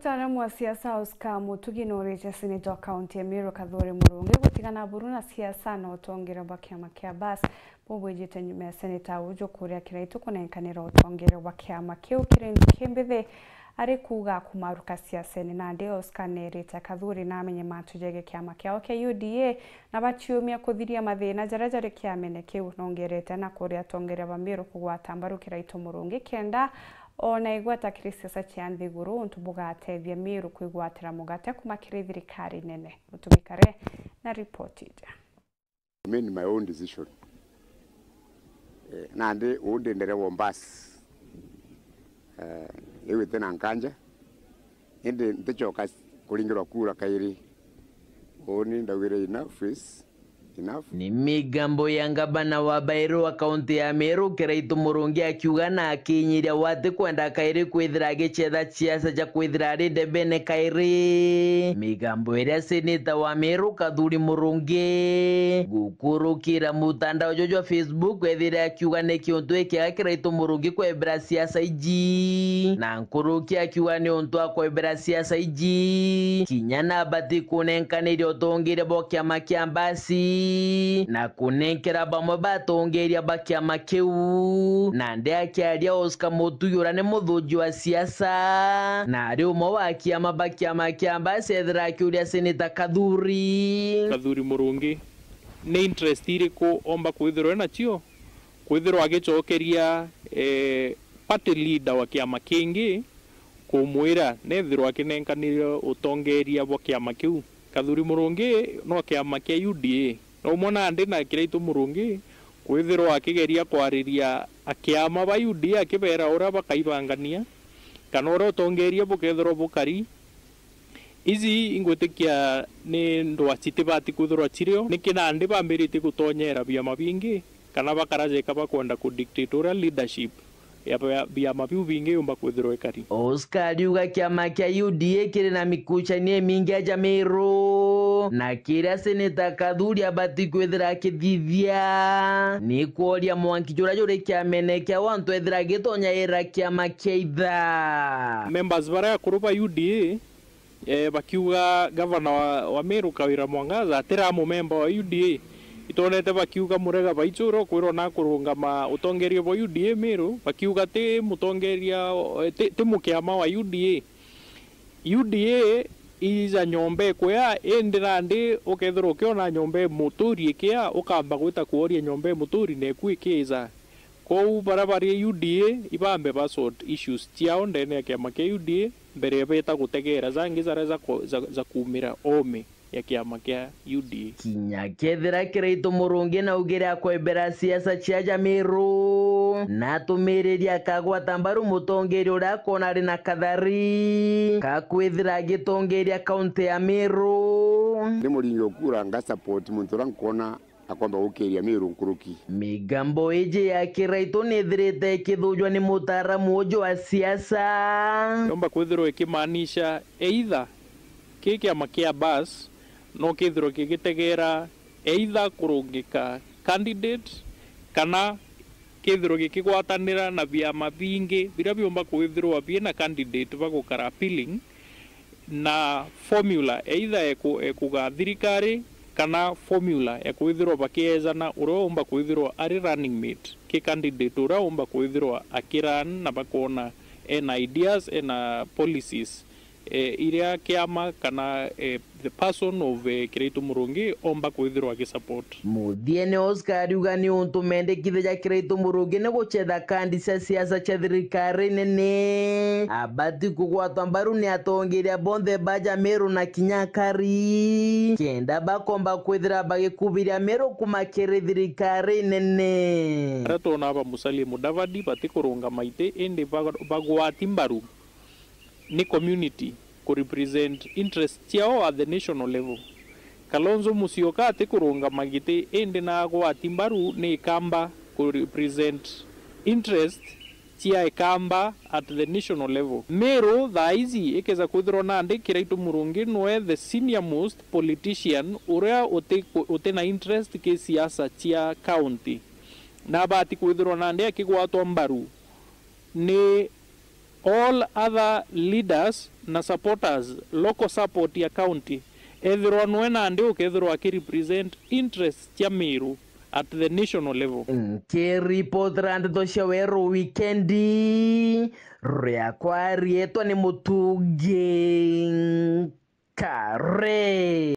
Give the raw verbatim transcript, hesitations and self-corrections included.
Mtaalamu wa siasa Oscar Mutugi nuurite seneta wa kaunti ya Meru Kathuri Murungi gutigana buru na siasa na utongeria bwa kiama kia Bas bubwijite nyuma ya seneta uju kuria Kiraitu kunenkanira utongeria bwa kiama kiu kiri ntuki mbithi, ari kuuga akumaruka siasene. Nandi Oscar neerite Kathuri namenye mantu jegie kiama kiao kia U D A na baciumia kuthiria mathina jaria jari kiamene kiu. Nongerete na kuria atongeria ba Meru kugwata mbaru Kiraitu Murungi kenda ona igweta kiri siasa cia nthiguru untu bugatethia Meru kwigwatira mugate kuma kiri thirikari nene. Mutumi Kare na ripoti iji. I made my own decision. Eh, nandi uu ndi ndereba o bus. Eh, iu iti na nkanja. Indi nticoka kuringirwa kura kairi. Uuni ndaugire enough is enough. Ni migambo ya ngavana wa Bairru wa kaunti ya Meru, Kiraitu Murungi, akiuga na akinyiria we atikwenda kairi kwithira agicetha ciaca cia kwithira ari ndebene kairi. Migambo iria seneta wa Meru Kathuri Murungi gukurukira mutandao juju jwa Facebook ethire akiuga ni kiuntu gikiega Kiraitu Murungi kwebera siasa iji, na nkuruki akiuga ni untu akwebera siasa iji, kinya nabati kunenkaniria utongeria bwa kiama kia Mbasi na kunenkera bamwe ba atongeria ba kiama kiu. Nandi akiaria Oscar Mutugi uria ni muthuji wa siasa na ari umwe wa kiama ba kiama kia Mbasi, ethira akiuria seneta Kathuri. Kathuri Murungi, ni interest iriku omba kwithirwa enacio? Kwithirwa agicokeria, eh, party leader wa kiama kingi kumwira nethirwa akinenkanire utongeria bwa kiama kiu. Kathuri Murungi no kiama kia U D A. No umwe nandi na Kiraitu Murungi kwithirwa akigeria kwariria akiama ba U D A akibera uria bakaibangania kana uria utongeria bukethirwa bukari. Iji ingwitikia ni ndwa citibati kwithirwa cirio. Niki nandi bambiritie gutonyera biama bingi kana bakarajeka bakwenda ku dictate uria leadership ya bia-, biama biu bingi yumba kwithirwa ikari? Oscar ariuga kiama kia U D A kiri na mikuchania imingi ya Jamiru, na kiria seneta Kathuri abati kwithira akithithia ni kworia mwanki juria juri kiamene kiao antu ethira agitonya ira kiama kia itha. Members baria akuru ba U D A, eh, bakiuga gavana wa, wa Meru Kawira Mwangaza atira mumemba wa U D A. Itwonete bakiuga Murega Baichuru kwirwo na kurungama utongeria bwa U D A Meru, bakiuga ti mutongeria, eh, ti, ti mukiama wa U D A. U D A ija nyomba ikuya, indi nandi ukethirwa ukiona nyomba imuturi ikia, ukamba gwita kworia nyomba imuturi neku ikiija. Kwou baria bari U D A ibambe ba sort issues ciao ndene ya kiama kia U D A mbere ya beta gutegeera jangi jaria jako-, ja-, jakuumira oome ya kiama kia U D A. Kinya kethira Kiraitu Murungi naugire akwembera siasa cia Jamiru, na atumiriria akagwata mbaru mutongeria uria akona ari na kathari ka kwithira agitongeria kaunti ya Meru. Ni muringi ukura nga support muntu uria nkwona akomba gukiria Meru nkuruki. Migambo iji ya Kiraitu nithirite ikithujwa ni mutaaramu uju wa siasa. Yomba kwithirwa ikimaanisha either ki kiama kia Bas no kithirwe gigitegeera either kurungika candidate kana kithirwe gikigwatanira na biama bingi biria biumba kwithirwa biina candidate bagukara appealing na formula either eku-, ekuga thirikari kana formula ya kwithirwa bakiejana uria umba kwithirwa ari running mate ki candidate uria umba kwithirwa akiran na bakona ena ideas, ena policies, eh, iria kiama kana, eh, the person of, eh, Kiraitu Murungi omba kwithirwa agisupport. Muthiene Oscar ariuga ni untu mendekithia ja Kiraitu Murungi ni gucetha kandi cia siasa cia thirikari nene. Abati kugwatwa mbaru ni atongeria bonthe ba Jamiru na kinya akari, kenda bakomba kwithira bagikubiria Meru kuma kiri thirikari nene. Aria twona ba Musalia Mudavadi batikurungama iti indi ba-, bagwati mbaru ni community ku represent interest ciao at the national level. Kalonzo Musyoka atikurungama giti indi na agwati mbaru ni ikamba ku represent interest cia ikamba at the national level. Meru thaa ici ikeza kwithirwa nandi Kiraitu Murungi nwe the senior most politician uria uti-, uti na interest ki siasa cia county. Na abati kwithirwa nandi akigwatwa mbaru ni All other leaders na supporters, local support ya county, ethirwa nwe nandi ukethirwa aki represent interests cia Meru at the national level. Nkiripotera ndeto cia weru wikendi, riakwa rietwa ni Mutungi Kare.